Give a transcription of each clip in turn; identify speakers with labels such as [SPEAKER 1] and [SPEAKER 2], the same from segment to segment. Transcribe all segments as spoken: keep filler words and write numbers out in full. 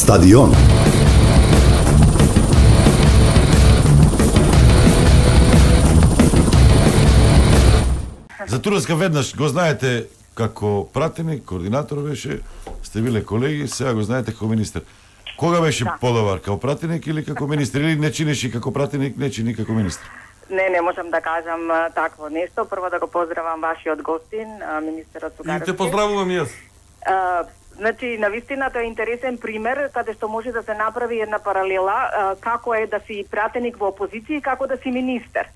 [SPEAKER 1] Стадион.
[SPEAKER 2] За Туреска веднаш го знаете како пратеник, координатор беше, сте биле колеги, сега го знаете како министер. Кога беше да. подобар, како пратеник или како министер, или не чинеше како пратеник, не чини како министер?
[SPEAKER 3] Не, не можам да кажам а, такво нешто. Прво да го поздравам вашиот гостин, а, министерот Цугаревски.
[SPEAKER 4] И те поздравувам јас.
[SPEAKER 3] А, значи, навистина тоа е интересен пример каде што може да се направи една паралела а, како е да си пратеник во опозиција и како да си министер.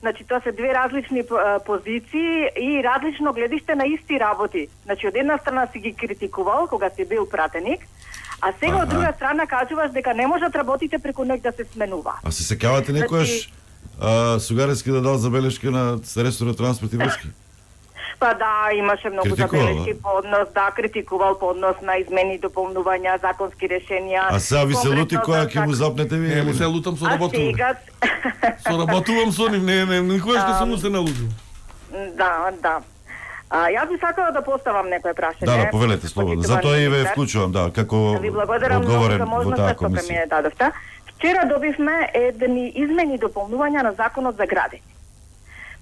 [SPEAKER 3] Значи, тоа се две различни а, позиции и различно гледиште на исти работи. Значи, од една страна си ги критикувал кога си бил пратеник, а сега ага. од друга страна кажуваш дека не можат работите преку ноќ да се сменува.
[SPEAKER 2] А се сеќавате некојаш значи, Сугаревски да дал забелешка на ресорот транспорт и врски?
[SPEAKER 3] Па да, имаше многу
[SPEAKER 2] Критикувал,
[SPEAKER 3] забелешки по однос, да, критикувал по однос на измени, дополнувања, законски решенија.
[SPEAKER 2] А сега ви се лути која ќе му запнете ви?
[SPEAKER 4] Не, му се лутам со работувам.
[SPEAKER 3] Сега...
[SPEAKER 4] Со работувам со нив, не, не, никогаш не сум му се налутил.
[SPEAKER 3] Да, да. А, јас би сакала да поставам некој прашање.
[SPEAKER 2] Да, да, повелете слободно. Затоа и ве вклучувам, да, како
[SPEAKER 3] ви благодарам
[SPEAKER 2] одговорен
[SPEAKER 3] за
[SPEAKER 2] во таа
[SPEAKER 3] можноста што ми
[SPEAKER 2] комисија.
[SPEAKER 3] ја дадовте. Вчера добивме едни измени и дополнувања на законот за градење.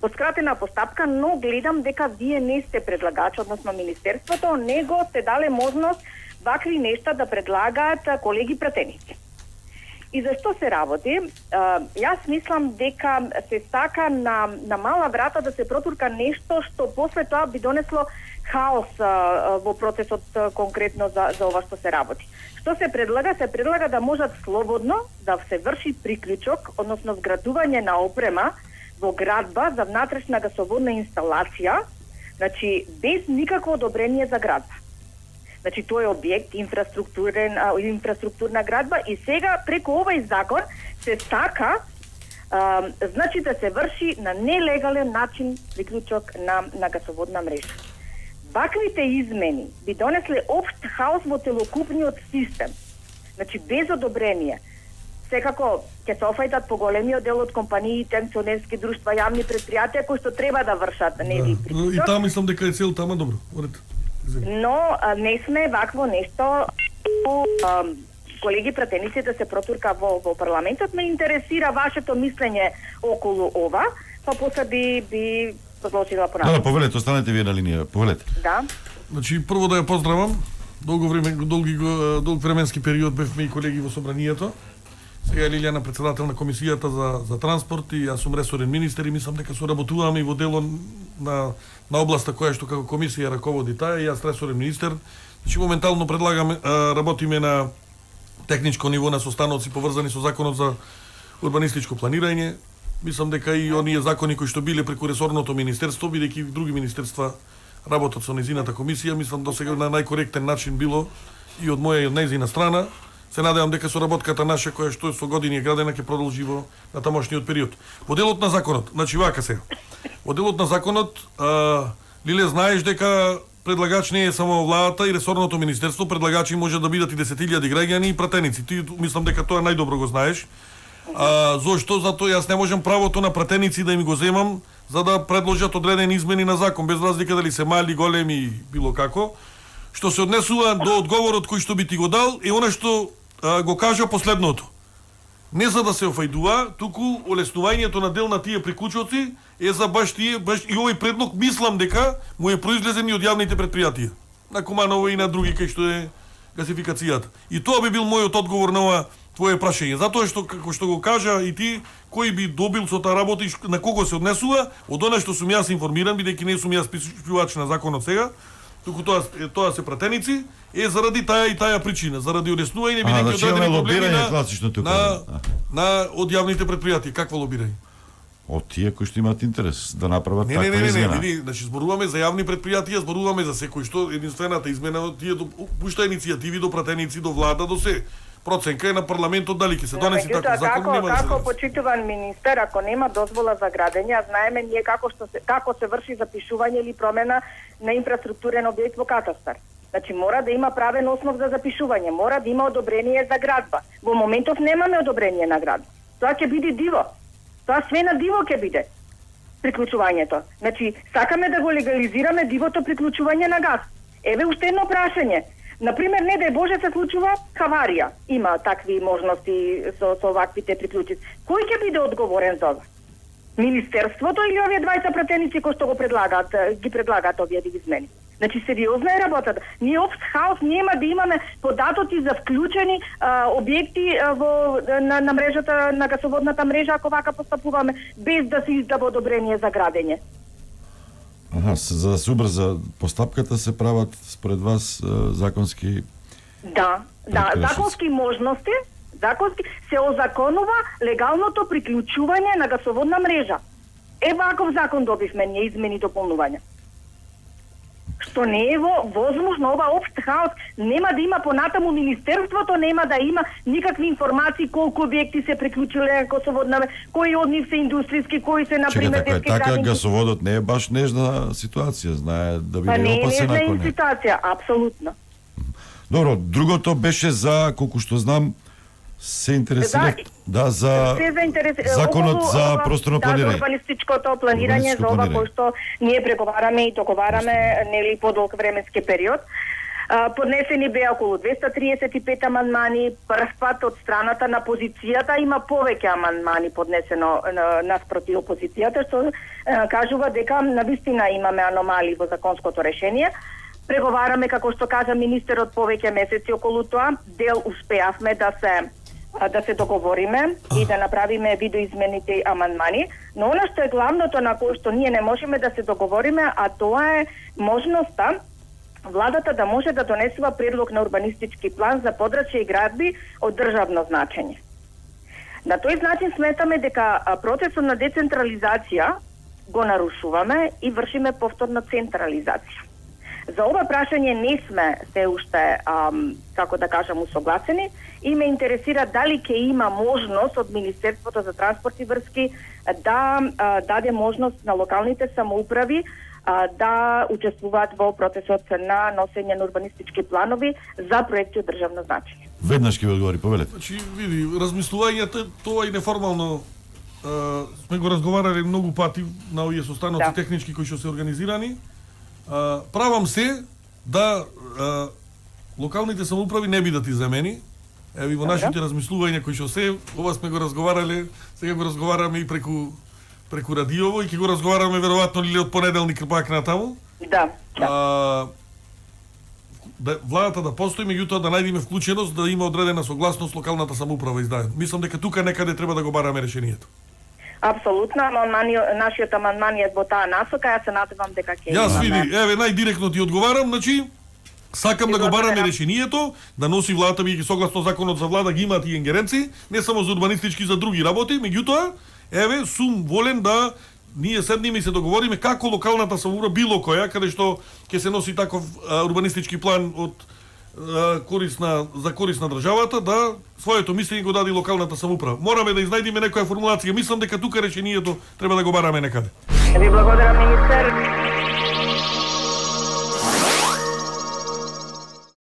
[SPEAKER 3] По скратена постапка, но гледам дека вие не сте предлагач, односно министерството, него сте дале можност вакви нешта да предлагаат колеги пратеници. И зашто се работи? А, јас мислам дека се сака на, на мала врата да се протурка нешто што после тоа би донесло хаос а, во процесот а, конкретно за, за ова што се работи. Што се предлага? Се предлага да можат слободно да се врши приклучок, односно вградување на опрема во градба за внатрешна гасоводна инсталација, значи без никакво одобрение за градба. Значи тој е објект инфраструктурен а, инфраструктурна градба и сега преку овој закон се сака а, значи да се врши на нелегален начин приклучок на на гасоводна мрежа. Ваквите измени би донесле општ хаос во целокупниот систем. Значи без одобрение. Секако ќе се офајдат поголемиот дел од компаниите, акционерски друштва, јавни предпријатија кои што треба да вршат нели
[SPEAKER 4] да.
[SPEAKER 3] приклучок.
[SPEAKER 4] И таа мислам дека е цел тама добро. Орете.
[SPEAKER 3] Но а, не сме вакво нешто а, колеги пратеници да се протурка во, во парламентот. Ме интересира вашето мислење околу ова, па после би, би продолжила понатаму.
[SPEAKER 2] Да, да, повелете, останете вие на линија, повелете.
[SPEAKER 3] Да.
[SPEAKER 4] Значи, прво да ја поздравам. Долго време, долги, долг временски период бевме и колеги во собранието. Сега е Лилјана председател на комисијата за, за транспорт и јас сум ресорен министер и мислам дека соработуваме и во дело на, на областа која што како комисија раководи таа и јас ресорен министер. Значи моментално предлагаме, работиме на техничко ниво на состаноци поврзани со законот за урбанистичко планирање. Мислам дека и оние закони кои што биле преку ресорното министерство, бидејќи други министерства работат со незината комисија, мислам досега на најкоректен начин било и од моја и од нејзина страна. Се надевам дека соработката наша која што со години е градена ќе продолжи во на тамошниот период. Во делот на законот, значи вака се. Во делот на законот, а, Лиле, знаеш дека предлагач не е само владата и ресорното министерство, предлагачи може да бидат и десет илјади граѓани и пратеници. Ти мислам дека тоа најдобро го знаеш. А, зошто? Затоа јас не можам правото на пратеници да им го земам за да предложат одредени измени на закон, без разлика дали се мали, големи, било како. Што се однесува до одговорот кој што би ти го дал е она што а, го кажа последното. Не за да се офајдува, туку олеснувањето на дел на тие приклучоци е за баш тие, баш и овој предлог мислам дека му е произлезен и од јавните предпријатија. На Куманово и на други кај што е гасификацијата. И тоа би бил мојот одговор на ова твое прашање. Затоа што како што го кажа и ти, кој би добил со таа работа и на кого се однесува, од она што сум јас информиран, бидејќи не сум јас пишувач на законот сега, туку тоа тоа се пратеници, е заради таа и таа причина, заради олеснување бидејќи
[SPEAKER 2] значи,
[SPEAKER 4] одредени проблеми на,
[SPEAKER 2] класично тука.
[SPEAKER 4] на, на од јавните предпријатија. Какво лобирање?
[SPEAKER 2] Од тие кои што имаат интерес да направат
[SPEAKER 4] не,
[SPEAKER 2] таква
[SPEAKER 4] не, не,
[SPEAKER 2] измена.
[SPEAKER 4] Не, не, не, значи зборуваме за јавни предпријатија, зборуваме за секој што единствената измена тие до пушта иницијативи до пратеници, до влада, до се. Проценка е на парламентот дали ќе се донесе
[SPEAKER 3] no,
[SPEAKER 4] таков закон,
[SPEAKER 3] како,
[SPEAKER 4] нема да се
[SPEAKER 3] како почитуван министер, ако нема дозвола за градење, а знаеме ние како што се како се врши запишување или промена на инфраструктурен објект во катастар. Значи мора да има правен основ за запишување, мора да има одобрение за градба. Во моментов немаме одобрение на градба. Тоа ќе биде диво. Тоа све на диво ќе биде приклучувањето. Значи сакаме да го легализираме дивото приклучување на газ. Еве уште едно прашање. Например, не дај Боже се случува аварија. Има такви можности со, со ваквите приклучици. Кој ќе биде одговорен за ова? Министерството или овие двајца пратеници кои што го предлагаат, ги предлагаат овие измени? Значи, сериозна е работата. Ние општ хаос нема да имаме податоци за вклучени а, објекти а, во, на, на мрежата, на гасоводната мрежа, ако вака постапуваме, без да се издава одобрение за градење.
[SPEAKER 2] Аха, за да се убрза постапката се прават според вас законски...
[SPEAKER 3] Да, да, законски можности, законски се озаконува легалното приклучување на гасоводна мрежа. Е, ваков закон добивме ние, измени и дополнувања. Што не е во возможно, ова општ хаос, нема да има понатаму министерството, нема да има никакви информации колку објекти се приклучиле гасоводна, кои од нив се индустријски, кои се на пример
[SPEAKER 2] детски градинки. Така гасоводот не е баш нежна ситуација, знае да биде
[SPEAKER 3] па
[SPEAKER 2] опасен ако не.
[SPEAKER 3] Па не е нежна ситуација, апсолутно.
[SPEAKER 2] Добро, другото беше за, колку што знам, се интересира да, да за
[SPEAKER 3] интерес...
[SPEAKER 2] законот за просторно планирање.
[SPEAKER 3] Да, за урбанистичкото планирање, за ова кој што ние преговараме и договараме нели подолг временски период. Поднесени беа околу двеста триесет и пет амандмани, прв пат од страната на позицијата има повеќе амандмани поднесено наспроти опозицијата, што кажува дека навистина имаме аномалии во законското решение. Преговараме, како што кажа министерот, повеќе месеци околу тоа. Дел успеавме да се да се договориме и да направиме видоизмените амандмани, но она што е главното на кое што ние не можеме да се договориме, а тоа е можноста владата да може да донесува предлог на урбанистички план за подрачје и градби од државно значење. На тој начин сметаме дека процесот на децентрализација го нарушуваме и вршиме повторна централизација. За ова прашање не сме се уште, ам, како да кажам, усогласени и ме интересира дали ќе има можност од Министерството за транспорт и врски да а, даде можност на локалните самоуправи а, да учествуваат во процесот на носење на урбанистички планови за проекти од државно значење.
[SPEAKER 2] Веднаш ќе ви одговори, повелете.
[SPEAKER 4] Значи, види, размислувањето, тоа и неформално а, сме го разговарали многу пати на овие состаноци да. Технички кои што се организирани. Uh, правам се да uh, локалните самоуправи не бидат иземени. Еви во нашите размислувања кои што се, ова сме го разговарале, сега го разговараме и преку преку радиово и ќе го разговараме веројатно или од понеделник пак натаму.
[SPEAKER 3] Да. да.
[SPEAKER 4] Uh, да владата да постои, меѓутоа да најдеме вклученост да има одредена согласност локалната самоуправа издадена. Мислам дека тука некаде треба да го бараме решението.
[SPEAKER 3] Апсолутно, амандмани, нашиот амандман е во таа насока, јас се надевам дека ќе
[SPEAKER 4] Јас види, еве најдиректно ти одговарам, значи сакам да го бараме решението, да носи владата бидејќи согласно законот за влада ги имаат и ингеренции, не само за урбанистички, за други работи, меѓутоа, еве сум волен да ние седнеме и се договориме како локалната самоуправа било која каде што ќе се носи таков а, урбанистички план од корисна за корисна државата да своето мислење го даде локалната самоуправа. Мораме да изнајдеме некоја формулација. Мислам дека тука решението треба да го бараме некаде.
[SPEAKER 3] Ви благодарам, министер.